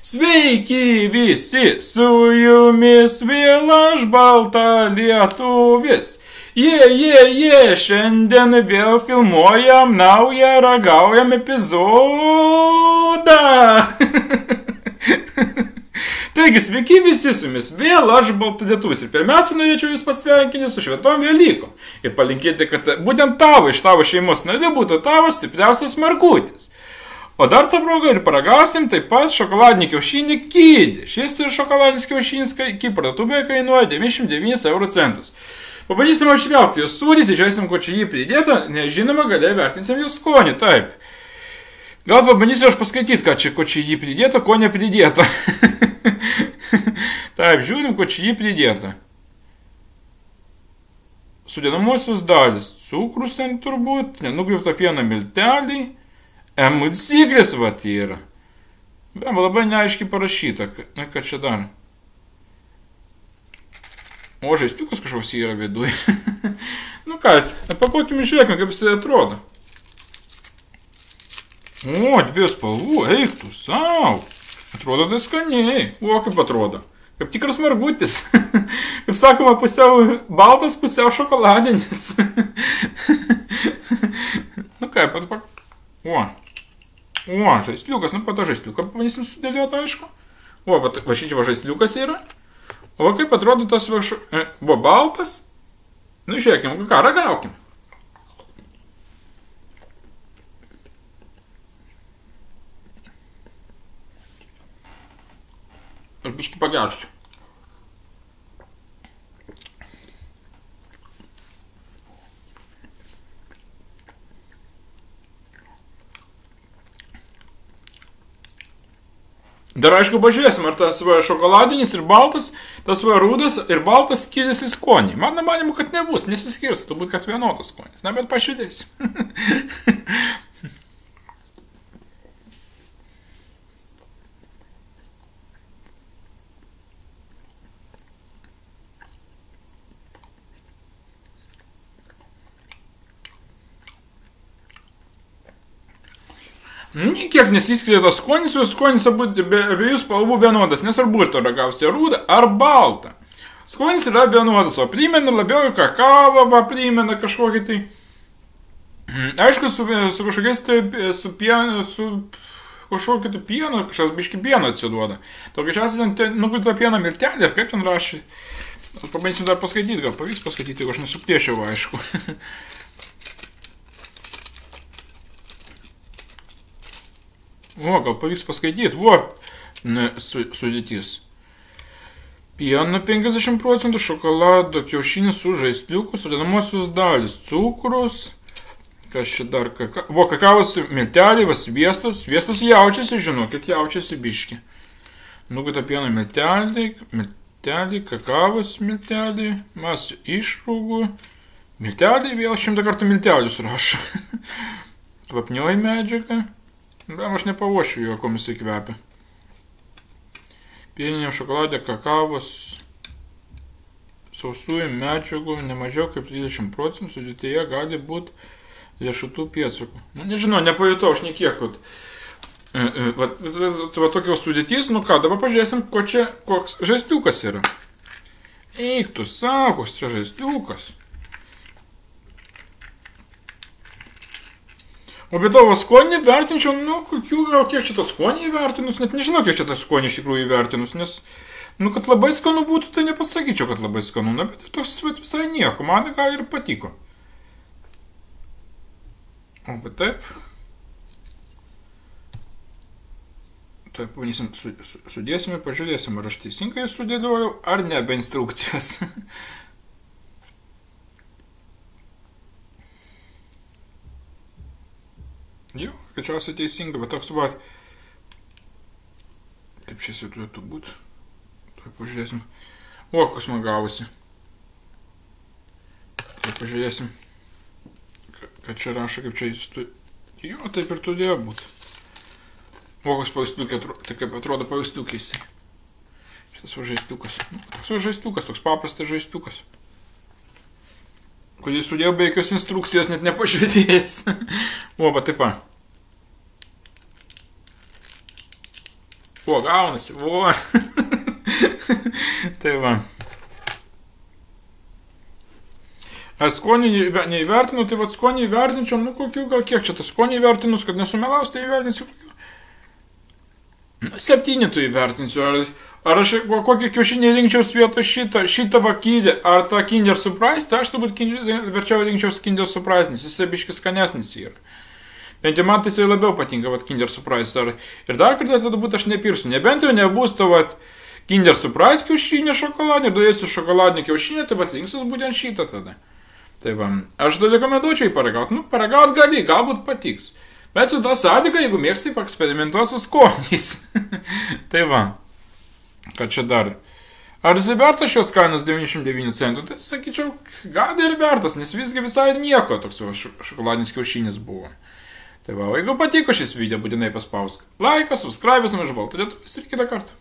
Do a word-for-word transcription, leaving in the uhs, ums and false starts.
Sveiki visi, su jumis vėl aš balta lietuvis. Jie, jie, jie, šiandien vėl filmuojam naują ragaujam epizodą. Taigi, sveiki visi su jumis, vėl aš balta lietuvis. Ir pirmiausia, norėčiau jūs pasveikinti su šventom Velykom. Ir palinkėti, kad būtent tavo iš tavo šeimos narių būtų tavo stipriausias markutis. O dar tą progą ir paragausim taip pat šokoladinį kiaušinį Kidį. Šis šokoladinis kiaušinis kaip parduotuvėje kainuoja devyniasdešimt devynis euro centus. Pabandysim apžvelgti jo sudėtį, žiūrėsim, ko čia jį pridėta, nežinoma, galiai vertinsim jo skonį, taip. Gal pabandysiu aš paskaityti, ką čia, ko čia jį pridėta, ko nepridėta. Taip, žiūrim, ko čia jį pridėta. Sudedamosios dalis. Cukrus ten turbūt, nenugriaupta pieno milteliai. Emulsiklis vat yra. Be, labai neaiškiai parašyta. Na, ką čia dar? O, žaistiukas kažkoks yra viduje. Nu ką, papakim žiūrėkime, kaip jis atrodo. O, dvi spalvų, eik tu sau. Atrodo tai skaniai. O, kaip atrodo. Kaip tikras margutis. Kaip sakoma, pusiau baltas, pusiau šokoladinis. Nu ką, pat pak... O. O, žaisliukas, nu pato žaisliuką pabandysim sudėlioti, aišku. O, va, va šičia va žaisliukas yra. O va kaip atrodo tas va, š... e, buvo baltas. Nu, žiūrėkim, ką, ragaukim. Aš biškį pagersiu. Dar aišku, pažiūrėsim, ar tas va šokoladinis ir baltas, tas va rudas ir baltas skiriasi skonį. Mano manimu, kad nebus, nesiskirs, turbūt, kad vienodas skonis. Na, bet pažiūrėsim. Niekiek nesiskiria tas skonis, o skonis abiejų spalvų vienodas, nesvarbu, ar to ragausi rudą ar baltą. Skonis yra vienodas, o primena labiau kakavą, primena kažkokį tai... Aišku, su, su kažkokiais tai, su pienu, su kažkokiu tai pienu, kažkas biški pieno atsiduoda. Tokia šiandien ten nukrito pieno miltelį, ir kaip ten rašė. Aš pabandysim dar paskaityti, gal pavyks paskaityti, jeigu aš nesupiešiau, aišku. O, gal pavyks paskaityti. O, ne, su, sudėtis. Pieno penkiasdešimt procentų, šokolado kiaušinis su žaisliuku, sudedamosios dalis, cukrus, kas čia dar, kaka... O, kakavos milteliai, va, sviestas, sviestas jaučiasi, žinokit, jaučiasi biški. Nukrito pieno milteliai, milteliai, kakavos milteliai, masė išrūgų, milteliai, vėl šimtą kartų miltelius rašo. Kvapnioji medžiaga. Be, aš nepavošiu jo, kom jisai kvepia. Pieniniam šokoladė kakavos sausųjų medžiagų nemažiau kaip trisdešimt procentų, sudėtyje gali būti riešutų pėdsakų. Nu, nežinau, nepajutau aš niekiek. Va, va, va tokios sudėtys, nu ką, dabar pažiūrėsim, ko čia, koks žaisliukas yra. Eik tu savo, koks čia žaisliukas. O be tavo skonį vertinčiau, nu, kokių gal kiek čia tą skonį įvertinus, net nežinau, kiek čia tą skonį iš tikrųjų įvertinus, nes, nu, kad labai skanu būtų, tai nepasakyčiau, kad labai skanu, na, bet toks visai nieko, man gal ir patiko. O, bet taip. Taip, pavanysim, su, su, sudėsim ir pažiūrėsim, ar aš teisingai sudėliojau, ar ne be instrukcijos. Jo, kačiausiai teisinga, bet toks va, kaip šis jau turėtų būti. Tuoj pažiūrėsim. O, koks man gavosi. Tuoj pažiūrėsim, kad čia rašo, kaip čia jis tu... Jo, taip ir turėjo būti. O, koks paveistukiai atrodo, tai kaip atrodo paveistukiai jisai. Šitas va žaistukas. Toks va žaistukas, toks paprastas žaistukas. Kurį sudėjau be jokios instrukcijos, net nepažiūrėjęs. O, va taip va. O, gaunasi, o. Tai va. A skonį neįvertinu, tai va skonį įvertinčiau, nu kokių, gal kiek čia tas skonį įvertinus, kad nesumelaus, tai įvertinsiu kokių. Septyni tu įvertinsiu, ar, ar aš kokį kiaušinį rinkčiaus vietoj šitą, šitą vakydį, ar tą Kinder Surprise, tai aš turbūt verčiau rinkčiaus Kinder Surprise, nes jis biškis skanesnis yra. Bent jau man tai jisai labiau patinka, vat, Kinder Surprise, ar, ir dar kartą tada būt aš nepirsiu, nebent jau nebus to, vat, Kinder Surprise kiaušinį šokoladinį, duėsiu šokoladinį kiaušinį, tai vat rinksiu būtent šitą tada. Tai va, aš tada rekomenduočiau jį paragauti, nu, paragauti gali, galbūt patiks. Bet su tą sąlygą, jeigu mėgstai, paeksperimentuos su skoniais. Tai va, kad čia dar. Ar jisai vertas šios kainos devyniasdešimt devyni centų? Tai sakyčiau, gal ir vertas, nes visgi visai nieko toks šokoladinis kiaušinis buvo. Tai va, o jeigu patiko šis video, būtinai paspausk laiką, subscribe, ir žvalgtų lietuvis ir kitą kartą.